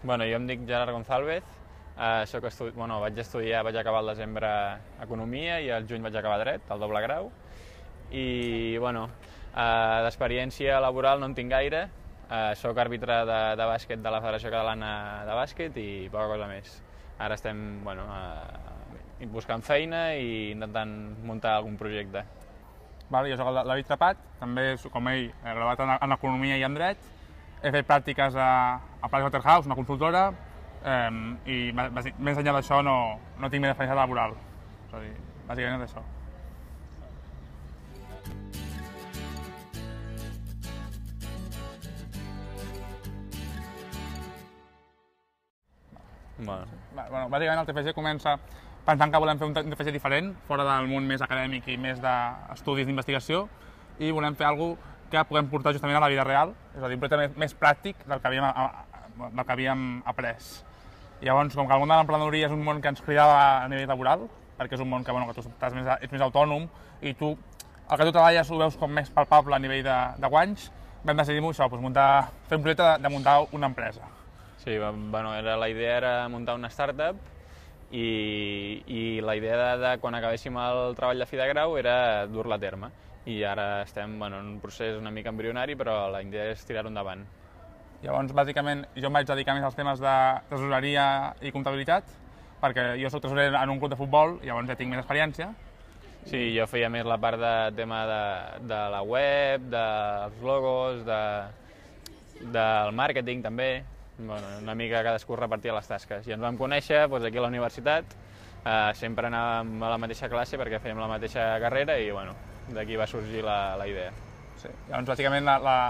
Bueno, jo em dic Gerard Gonzálvez, vaig acabar al desembre Economia i al juny vaig acabar Dret, el doble grau. I, d'experiència laboral no en tinc gaire. Soc àrbitre de bàsquet de la Federació Catalana de Bàsquet i poca cosa més. Ara estem buscant feina i intentant muntar algun projecte. Jo soc el David Trapat, també, com ell, he graduat en Economia i en Dret. He fet pràctiques a Pricewaterhouse, una consultora, i més enllà d'això no tinc més experiència laboral. És a dir, bàsicament és això. Bàsicament el TFG comença pensant que volem fer un TFG diferent, fora del món més acadèmic i més d'estudis d'investigació, i volem fer alguna cosa que puguem portar justament a la vida real, és a dir, un projecte més pràctic del que havíem après. Llavors, com que el món de l'emprenedoria és un món que ens cridava a nivell laboral, perquè és un món que tu ets més autònom i el que tu treballes ho veus com més palpable a nivell de guanys, vam decidir això, fer un projecte de muntar una empresa. Sí, la idea era muntar una startup i la idea de quan acabéssim el treball de fi de grau era dur-la a terme. I ara estem en un procés una mica embrionari, però la idea és tirar-ho endavant. Llavors, bàsicament, jo em vaig dedicar més als temes de tresoreria i comptabilitat, perquè jo soc tresorer en un club de futbol, llavors ja tinc més experiència. Sí, jo feia més la part de tema de la web, dels logos, del màrqueting també. Una mica cadascú repartia les tasques. I ens vam conèixer aquí a la universitat, sempre anàvem a la mateixa classe perquè fèiem la mateixa carrera i d'aquí va sorgir la idea. Sí. Llavors, bàsicament,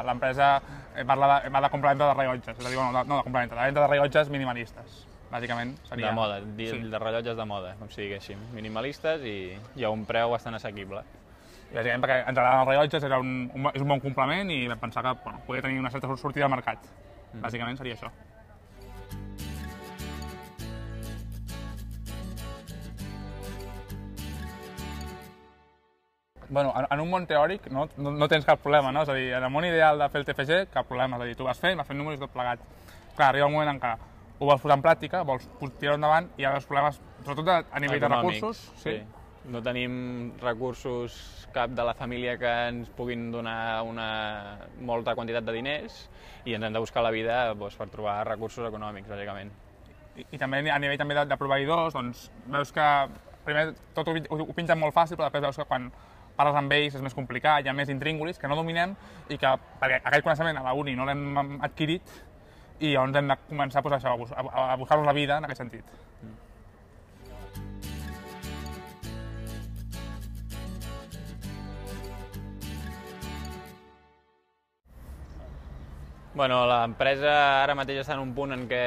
l'empresa va de compra-venda de rellotges, és a dir, no de compra-venda, de venda de rellotges minimalistes, bàsicament seria... De moda, de rellotges de moda, com si diguéssim, minimalistes i a un preu bastant assequible. I bàsicament perquè ens agraden els rellotges, és un bon complement i vam pensar que podia tenir una certa sortida al mercat. Bàsicament seria això. En un món teòric no tens cap problema, no? És a dir, en el món ideal de fer el TFG, cap problema. És a dir, tu vas fent números i tot plegat. Clar, arriba un moment en què ho vols posar en pràctica, vols tirar-ho endavant i hi ha els problemes, sobretot a nivell de recursos. Sí. No tenim recursos cap de la família que ens puguin donar una molta quantitat de diners i ens hem de buscar la vida per trobar recursos econòmics, bàsicament. I també a nivell de proveïdors, doncs veus que primer tot ho pinten molt fàcil, però després veus que quan parles amb ells és més complicat, hi ha més intríngulis que no dominem i que perquè aquell coneixement a la uni no l'hem adquirit i llavors hem de començar a buscar-nos la vida en aquest sentit. L'empresa ara mateix està en un punt en què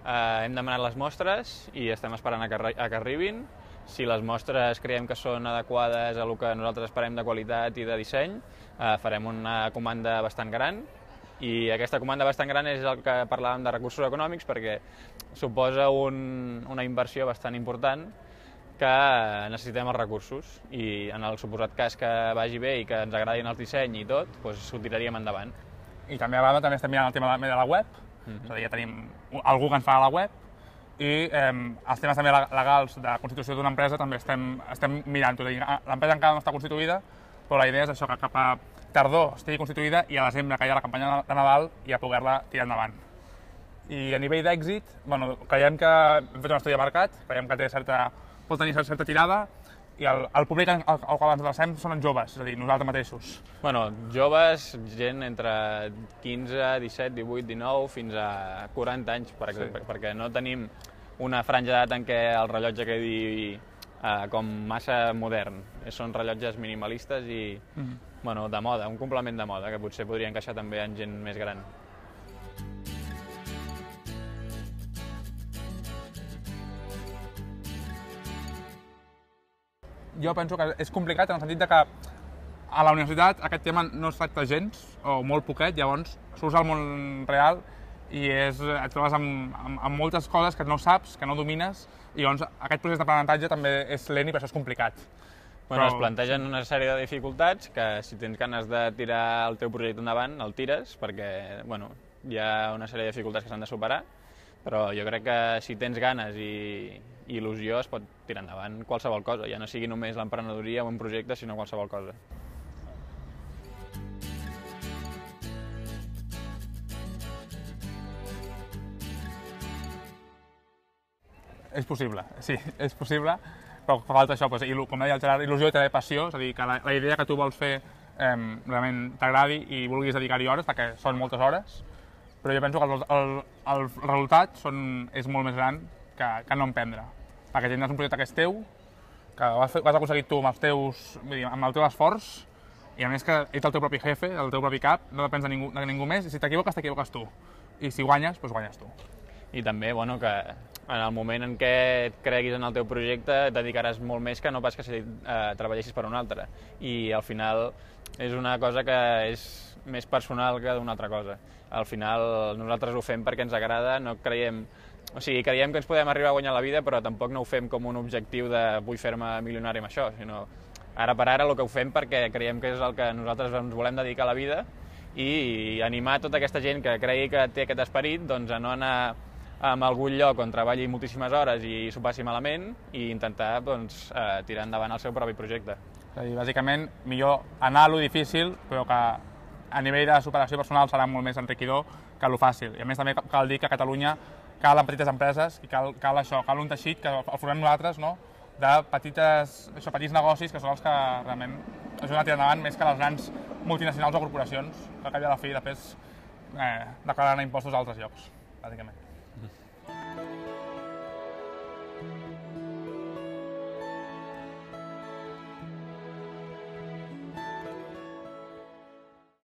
hem demanat les mostres i estem esperant a que arribin. Si les mostres creiem que són adequades a el que nosaltres esperem de qualitat i de disseny, farem una comanda bastant gran. I aquesta comanda bastant gran és el que parlàvem de recursos econòmics perquè suposa una inversió bastant important que necessitem els recursos i en el suposat cas que vagi bé i que ens agradin el disseny i tot, ho tiraríem endavant. I també a banda estem mirant el tema de la web, és a dir, ja tenim algú que ens fa la web i els temes també legals de constitució d'una empresa també estem mirant-ho. L'empresa encara no està constituïda, però la idea és això, que cap a tardor estigui constituïda i a desembre, que hi ha la campanya de Nadal, ja poder-la tirar endavant. I a nivell d'èxit, creiem que hem fet un estudi de mercat, creiem que pot tenir certa tirada i el públic al qual ens adrecem són els joves, és a dir, nosaltres mateixos. Joves, gent entre 15, 17, 18, 19, fins a 40 anys, perquè no tenim una franja d'edat en què el rellotge quedi com massa modern. Són rellotges minimalistes i de moda, un complement de moda, que potser podria encaixar també en gent més gran. Jo penso que és complicat en el sentit que a la universitat aquest tema no es tracta gens, o molt poquet, llavors surts al món real i et trobes amb moltes coses que no saps, que no domines, i llavors aquest procés d'aprenentatge també és lent i per això és complicat. Es plantegen una sèrie de dificultats que si tens ganes de tirar el teu projecte endavant, el tires, perquè hi ha una sèrie de dificultats que s'han de superar però jo crec que si tens ganes i il·lusió es pot tirar endavant qualsevol cosa, ja no sigui només l'emprenedoria o un projecte, sinó qualsevol cosa. És possible, sí, és possible, però fa falta això, com deia el Gerard, il·lusió i també passió, és a dir, que la idea que tu vols fer realment t'agradi i vulguis dedicar-hi hores, perquè són moltes hores, però jo penso que el resultat és molt més gran que no emprendre, perquè tindràs un projecte que és teu, que ho has aconseguit tu amb el teu esforç, i a més que ets el teu propi jefe, el teu propi cap, no depens de ningú més, i si t'equivoques tu, i si guanyes, doncs guanyes tu. I també, bueno, que en el moment en què et creguis en el teu projecte et dedicaràs molt més que no pas que si treballessis per un altre. I al final és una cosa que és més personal que d'una altra cosa. Al final nosaltres ho fem perquè ens agrada, no creiem... O sigui, creiem que ens podem arribar a guanyar la vida, però tampoc no ho fem com un objectiu de vull fer-me milionari amb això, sinó ara per ara el que ho fem perquè creiem que és el que nosaltres ens volem dedicar a la vida i animar tota aquesta gent que cregui que té aquest esperit doncs, a no anar a algun lloc on treballi moltíssimes hores i s'ho passi malament i intentar doncs, tirar endavant el seu propi projecte. És a dir, bàsicament, millor anar a lo difícil, però que a nivell de superació personal serà molt més enriquidor que lo fàcil. I a més també cal dir que a Catalunya calen petites empreses i cal un teixit que el formem nosaltres, no? De petits negocis que són els que realment ajuden a tirar endavant més que les grans multinacionals o corporacions que al cap i a la fi després declaren impostos a altres llocs, bàsicament.